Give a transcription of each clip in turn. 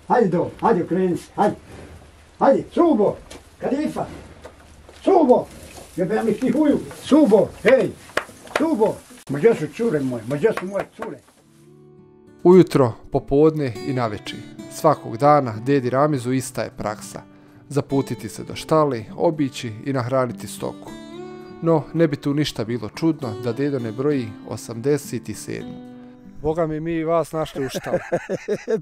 hajde okreni se, hajde, Subo, Kadifa, Subo, jebem li ti huju, Subo, hej, Subo, gdje su cure moje, gdje su moje cure? Ujutro, popodne i navečer. Svakog dana dedi Ramizu ista je praksa. Zaputiti se do štale, obići i nahraniti stoku. No, ne bi tu ništa bilo čudno da dedo ne broji 87. Boga mi vas našli u štali.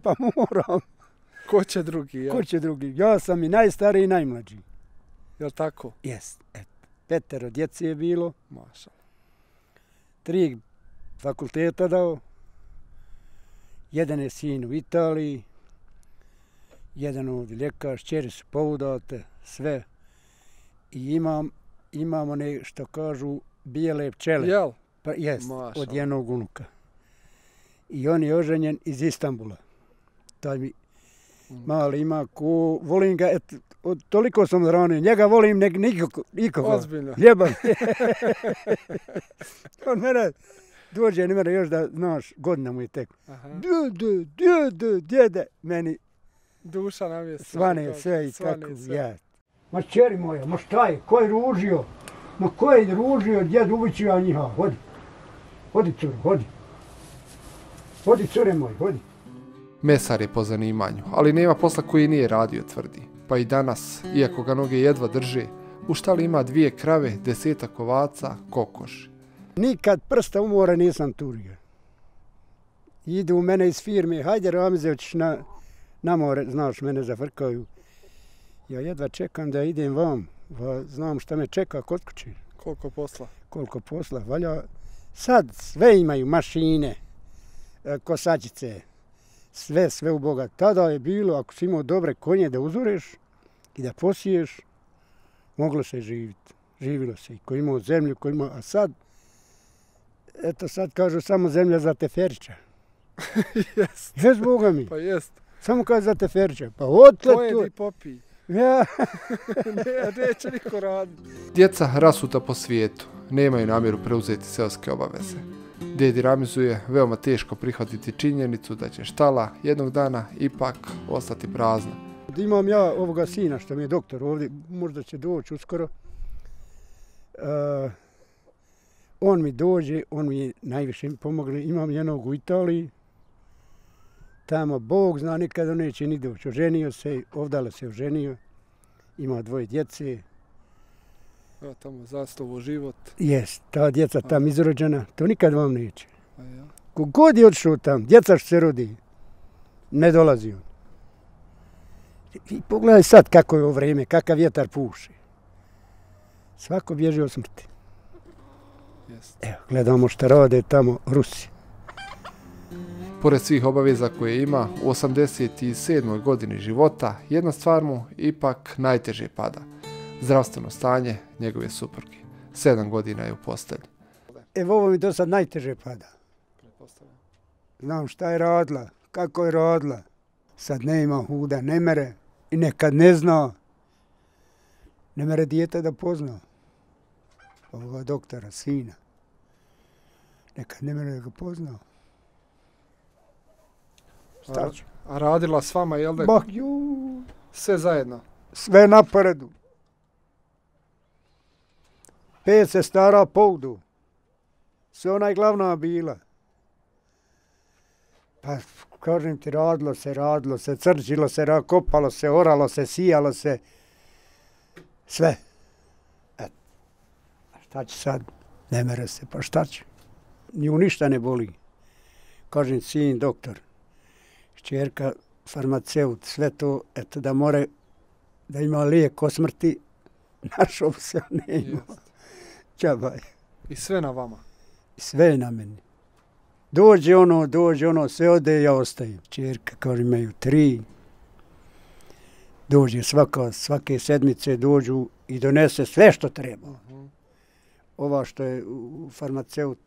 Pa moram. Ko će drugi? Ja? Ko će drugi? Ja sam i najstariji i najmlađi. Jel' tako? Jest. 5 djece je bilo. Maša. 3 fakulteta dao. Jedan je sin u Italiji. Jedan ovdje ljekar, čeri su poudate, sve. I imamo nešto kažu bijele pčele. Jel? Pa jest, od jednog unuka. I on je oženjen iz Istanbula. Taj mi mali ima ko, volim ga, toliko sam ranio, njega volim nikoga. Ozbiljno. Ljebam. On mene dođe, ne mene još da, znaš, godina mu je tek. Djede, meni duša nam je svane sve i tako, ja. Ma čeri moja, ma šta je, ko je ružio? Ma ko je ružio, djed uvićio njiha, hodi cure, hodi cure moj, hodi. Mesar je po zanimanju, ali nema posla koji nije radio, tvrdi. Pa i danas, iako ga noge jedva drže, u štali ima 2 krave, 10 ovaca, kokoši. Nikad prsta umora nisam turio. Idu u mene iz firme, hajde Ramize, hoćeš na more, znaš, mene zafrkaju. Ja jedva čekam da idem vam, znam šta me čeka kod kuće. Koliko posla, valja. Sad sve imaju, mašine, kosačice, sve u Boga. Tada je bilo, ako si imao dobre konje da uzoreš i da posiješ, moglo se živjeti. Živilo se i ko imao zemlju, a sad, eto sad kažu samo zemlja za teferića. Jest. Jest, Boga mi. Pa jest. Samo kaže za teferića. Pa otle tu. Pojedi popij. Ja. Neće niko raditi. Djeca rasuta po svijetu. Nemaju namjeru preuzeti seoske obaveze. Dedi Ramizu je veoma teško prihvatiti činjenicu da će štala jednog dana ipak ostati prazna. Imam ja ovoga sina što mi je doktor ovdje, možda će doći uskoro. On mi dođe, on mi najviše pomogne. Imam jednog u Italiji. Tamo Bog zna, nikada neće ni doći. Oženio se, ovdje se oženio. Ima 2 djece. Ja, tamo zaslovo život. Jest, ta djeca tam izrođena, to nikad vam neće. Kogod je odšao tam, djeca što se rodi, ne dolazi on. I pogledaj sad kako je ovo vrijeme, kakav vjetar puše. Svako bježi od smrti. Evo, gledamo šta rade tamo Rusi. Pored svih obaveza koje ima, u 87. godini života, jedna stvar mu ipak najteže pada. Zdravstveno stanje njegove supruge. 7 godina je u postelji. Evo ovo mi do sad najteže pada. Znam šta je radila, kako je radila. Sad ne ima huda, ne mere i nekad ne zna. Ne mere dijete da pozna. Ovoga doktora, sina. Nekad ne mere da ga pozna. A radila s vama, jel da? Sve zajedno? Sve na poredu. 5 sestara poudu. Sve ona je glavna bila. Pa, kažem ti, radilo se, crčilo se, kopalo se, oralo se, sijalo se. Sve. A šta će sad? Ne mere se, pa šta će? Nju ništa ne boli. Kažem, sin doktor, kćerka farmaceut, sve to, eto da more, da ima lijek o smrti, našao se, ne ima. Čabaj. I sve na vama? Sve na meni. Dođe ono, sve ode, ja ostajem. Kćerka, kao imaju 3. Dođe svake sedmice, dođu i donese sve što treba. Ova što je farmaceut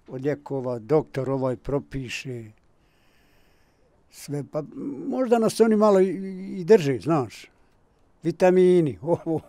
od lijekova, doktor ovaj propiše. Sve, pa možda nas oni malo i drže, znaš. Vitamini,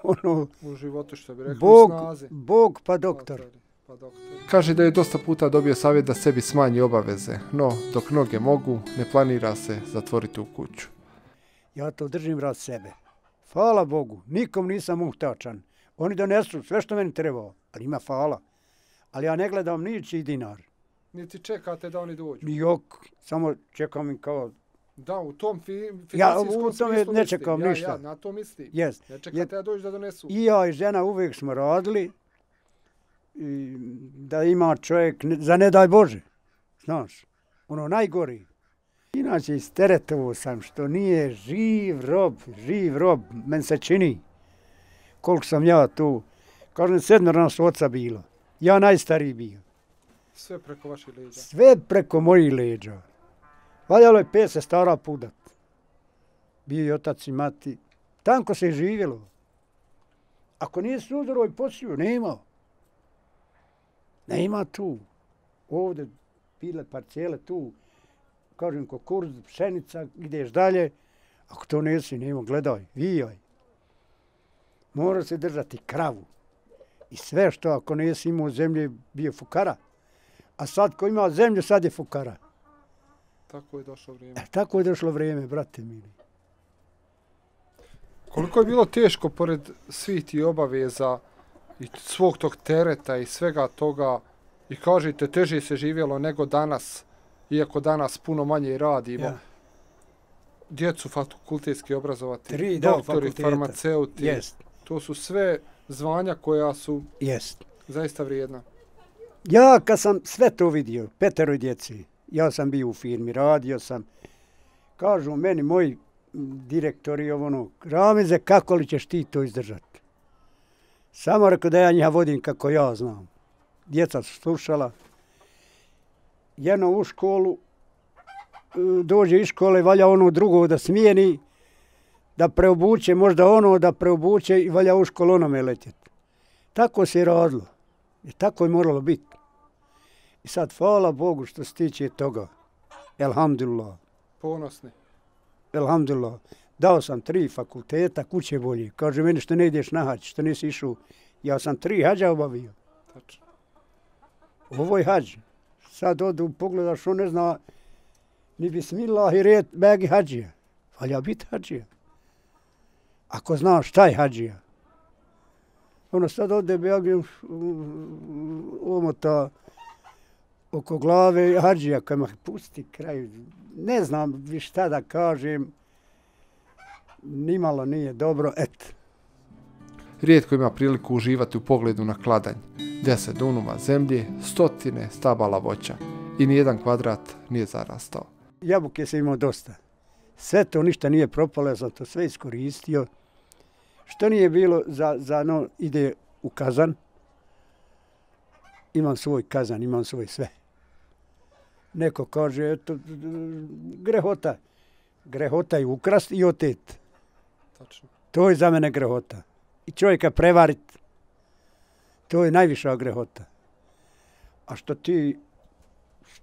ono. U životu što bi rekli u snazi. Bog pa doktor. Kaže da je dosta puta dobio savjet da sebi smanji obaveze, no dok noge mogu, ne planira se zatvoriti u kuću. Ja to držim rad sebe. Hvala Bogu, nikom nisam muhtačan. Oni donesu sve što meni treba, ali ima hvala. Ali ja ne gledam ničiji dinar. Niti čekate da oni dođu? Jok, samo čekam im kao... Da, u tom Ja u tome ne čekam ništa. Ja na to mislim. Jest. Ne čekate da dođu da donesu. I ja i žena uvijek smo radili i da ima čovjek, za ne daj Bože, znaš, ono najgori. Inače isteretovo sam što nije živ rob, meni se čini koliko sam ja tu. Kažem, 7 nas oca bilo, ja najstariji bio. Sve preko vaših leđa? Sve preko mojih leđa. Valjalo je 5 sestara pudat. Bio i otac i mati. Tanko se je živjelo. Ako nije sudaro i posiju, nema. Nema tu. Ovdje bile parcele tu. Kažem, kukuruz, pšenica, ideš dalje. Ako to nesi, nema, gledaj, vijaj. Mora se držati kravu. I sve što ako nesi imao zemlje, bio fukara. A sad ko ima zemlju, sad je fukara. Tako je došlo vrijeme. Tako je došlo vrijeme, brate mili. Koliko je bilo teško, pored svih tih obaveza i svog tog tereta i svega toga, i kažete, teže se živjelo nego danas, iako danas puno manje radimo. Ja. Djecu fakultetski obrazovati, 3 doktori, farmaceuti, Jest. To su sve zvanja koja su Jest. zaista vrijedna. Ja kad sam sve to vidio, 5 djeci, ja sam bio u firmi, radio sam, kažu meni moji direktori Ramize, kako li ćeš ti to izdržati? Samo rekao da ja njih vodim kako ja znam. Djeca su slušala. Jedno u školu, dođe iz škole, valja ono drugo da smijeni, da preobuče, možda ono da preobuče i valja u školu onome letjeti. Tako se je radilo. I tako je moralo biti. I sad, hvala Bogu što se tiče toga. Elhamdulillah. Ponosni. Elhamdulillah. Dao sam 3 fakulteta, kuće bolje. Kaže meni što ne ideš na hađ, što nisi išao. Ja sam 3 hađa obavio. Tačno. Ovo je hađ. Sad odu, pogledaš, on ne zna ni bismillah i red begi hađija. Valja biti hađija. Ako znaš šta je hađija. Ono sad ode begi omota oko glave hađija, kad me pusti kraj. Ne znam više šta da kažem. Nimalo nije dobro, et. Rijetko ima priliku uživati u pogledu na kladanj. 10 dunuma zemlje, 100 stabala voća i nijedan kvadrat nije zarastao. Jabuke sam imao dosta. Sve to ništa nije propalo, ja sam to sve iskoristio. Što nije bilo ide u kazan. Imam svoj kazan, imam svoj sve. Neko kaže, eto, grehota. Grehota je ukrast i otet. Tačno. To je za mene grehota. I čovjeka prevarit, to je najviša grehota. A što ti,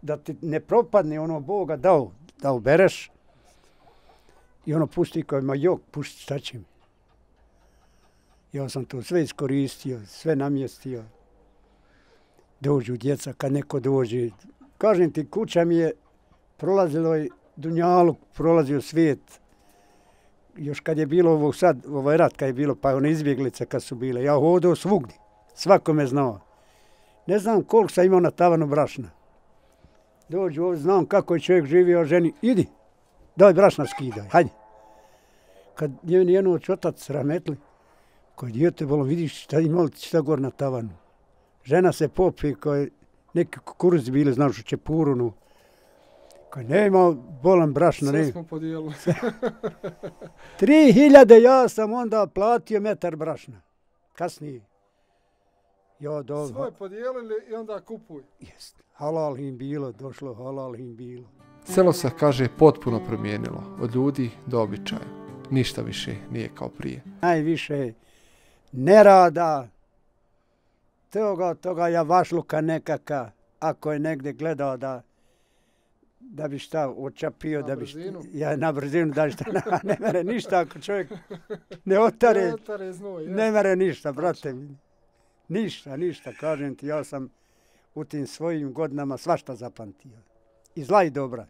da ti ne propadne ono Boga dao, da ubereš i ono pusti kao ima jok, pušti šta će mi. Ja sam to sve iskoristio, sve namjestio. Dođu djeca, kad neko dođe. Kažem ti, kuća mi je prolazilo i dunjaluk, prolazio svijet. Još kad je bilo ovo sad, ovaj rat kad je bilo, pa one izbjeglice kad su bile, ja hodao svugdje, svako me znao. Ne znam koliko sam imao na tavanu brašna. Dođu ovdje, znam kako je čovjek živio, ženi, idi, daj brašna skidaj, hajde. Kad je jedno otac rametli, koji dijete bolo, vidiš šta imali šta gor na tavanu. Žena se popi, koji neki kukuruzi bili, znaš, u čepurunu. Koji nema bolan brašna. Sve smo podijelili. 3000 ja sam onda platio metar brašna. Kasnije. Ja dobro. Svoje podijelili i onda kupuj. Jest. Halal im bilo, došlo halal im bilo. Selo se, kaže, potpuno promijenilo. Od ljudi do običaja. Ništa više nije kao prije. Najviše nerada, toga javašluka nekaka, ako je negdje gledao da bi šta očapio, da bi na brzinu, da bi šta, ne mere ništa ako čovjek ne otare, ne mere ništa, brate mi. Ništa, kažem ti, ja sam u tim svojim godinama svašta zapamtio. I zla i dobra.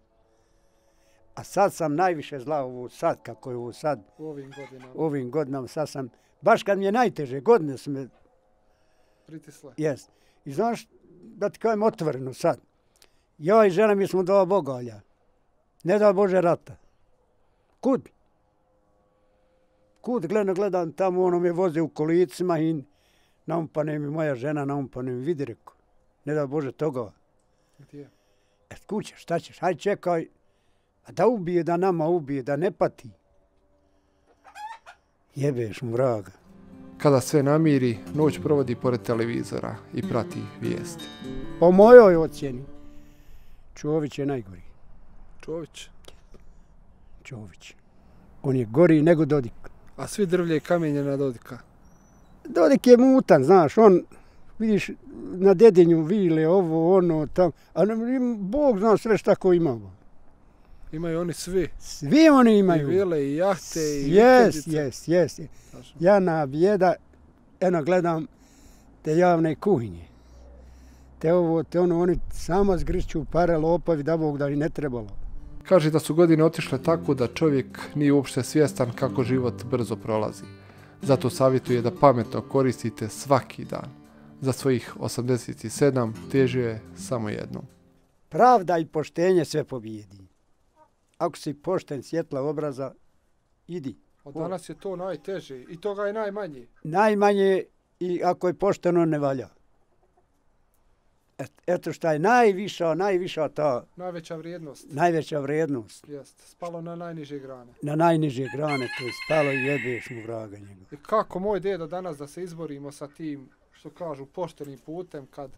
A sad sam najviše zla ovo sad, kako je ovo sad. U ovim godinama. U ovim godinama sad sam, baš kad mi je najteže, godine su me... Pritisle. Jes. I znaš, da ti kažem otvoreno sad. Ja i žena mi smo dva bogalja. Ne da Bože rata. Kud? Kud gledam tamo, ono me voze u kolicima i naumpane mi moja žena, naumpane mi, vidi reko. Ne da Bože toga. Gdje? Kuće, šta ćeš, hajde čekaj. A da ubije, da nama ubije, da ne pati. Jebeš mu vraga. Kada sve namiri, noć provodi pored televizora i prati vijesti. Po mojoj ocjeni, Čović je najgori. Čović? Čović. On je gori nego Dodik. A svi drvlje i kamenje na Dodika? Dodik je mutan, znaš, on, vidiš, na Dedinju vile, ovo, ono, tamo, a Bog zna sve šta ko imamo. Imaju oni svi. Svi oni imaju. I vile, i jahte, i Jes. Ja na bijeda, eno gledam te javne kuhinje. Te ovo, te ono, oni samo zgrću pare lopovi, da Bog da i ne trebalo. Kaže da su godine otišle tako da čovjek nije uopšte svjestan kako život brzo prolazi. Zato savjetuje da pametno koristite svaki dan. Za svojih 87 teže je samo jednom. Pravda i poštenje sve pobijedi. Ako si pošten, svjetla obraza, idi. Od danas je to najteže i toga je najmanje. Najmanje i ako je pošteno ne valja. Eto šta je najviša ta... Najveća vrijednost. Jest, spalo na najniže grane. Na najniže grane, to je spalo i jebeš mu vraga njega. I kako moj dedo danas da se izborimo sa tim, što kažu, poštenim putem kad...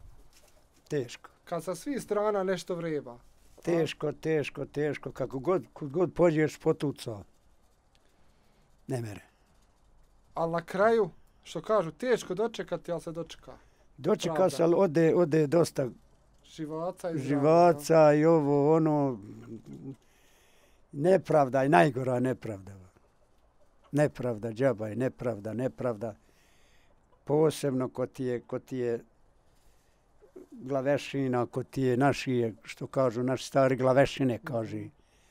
Teško. Kad sa svih strana nešto vreba. Teško. Kud god pođeš potuca. Ne mere. Ali na kraju, što kažu, teško dočekati, ali se dočeka. Dočeka se, ali ode dosta živaca i ovo, ono, nepravda i najgora nepravda. Nepravda, džaba je nepravda. Posebno ko ti je glavešina, ko ti je naši, što kažu, naši stari glavešine, kaže.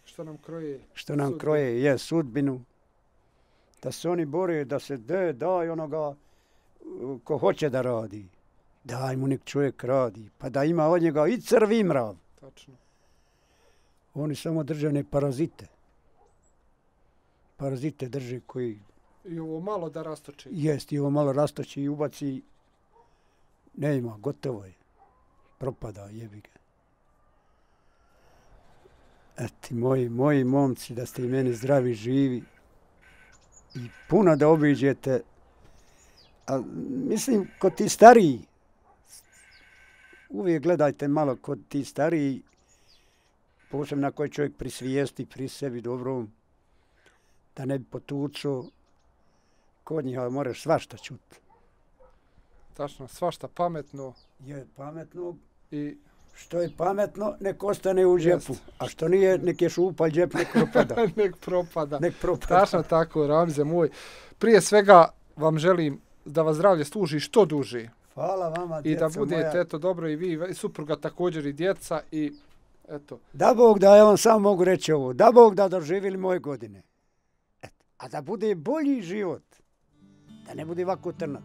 Što nam kroje, je sudbinu. Da se oni bore, da se daj onoga ko hoće da radi. Daj mu nek čovjek radi, pa da ima od njega i crv i mrav. Tačno. Oni samo drže ne parazite. Parazite drže koji... I ovo malo da rastoči. Jest, i ovo malo rastoči i ubaci. Ne ima, gotovo je. Propada, jebi ga. Eti, moji momci, da ste i meni zdravi, živi. I puno da obiđete. A mislim, kod ti stariji, uvijek gledajte malo kod ti stariji, posebno na koji čovjek prisvijesti pri sebi dobrom, da ne bi potučao, kod njih moraš svašta čuti. Tačno, svašta pametno. Je pametno. I što je pametno, nek ostane u džepu. A što nije, nek je šupalj džep, nek propada. nek propada. Tačno tako, Ramze moj. Prije svega vam želim da vas zdravlje služi što duže. Hvala vama, djeca moja. I da budete moja. Eto dobro i vi, i supruga također i djeca i eto. Da Bog da, ja vam samo mogu reći ovo, da Bog da doživjeli moje godine. A da bude bolji život, da ne bude ovako trnat.